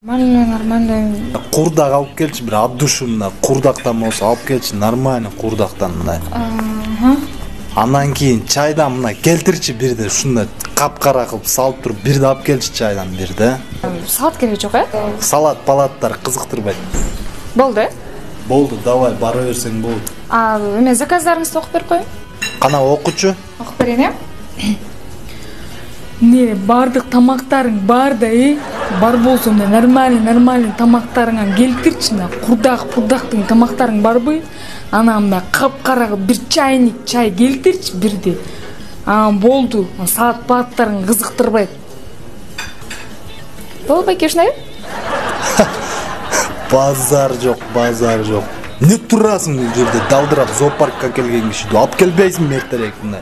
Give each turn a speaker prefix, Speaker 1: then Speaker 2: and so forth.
Speaker 1: Нормально.
Speaker 2: Курдак алып келчи, бир от душу мына курдактан болсо алып келчи, нормально курдактан мындай. Андан кийин чайдан мына келтирчи бирде, ушундай капкара кылып салып туруп бирде алып келчи чайдан бирде.
Speaker 1: Салат кереги жок,
Speaker 2: Салат палаттар кызыктырбайт.
Speaker 1: Болду,
Speaker 2: Болду, давай бара берсең болду.
Speaker 1: Эме заказдарыңызды окуп берип коеюн.
Speaker 2: Кана окучу?
Speaker 1: Окуп берейин,
Speaker 3: Не, бардык тамактарың бар да, бар болсо мына нормальный тамактарыңан келтирчи, мына курдактын тамактарың барбы? Анан мына капкара бир чайник чай келтирчи бирде. Болду, салат палаттарың кызыктырбайт.
Speaker 1: Болду, байке, ушундай.
Speaker 2: Базар жок. Не турасың бул жерде? Далдырап зоопаркка келген киши. Алып келбейсиңби эртерээк мына?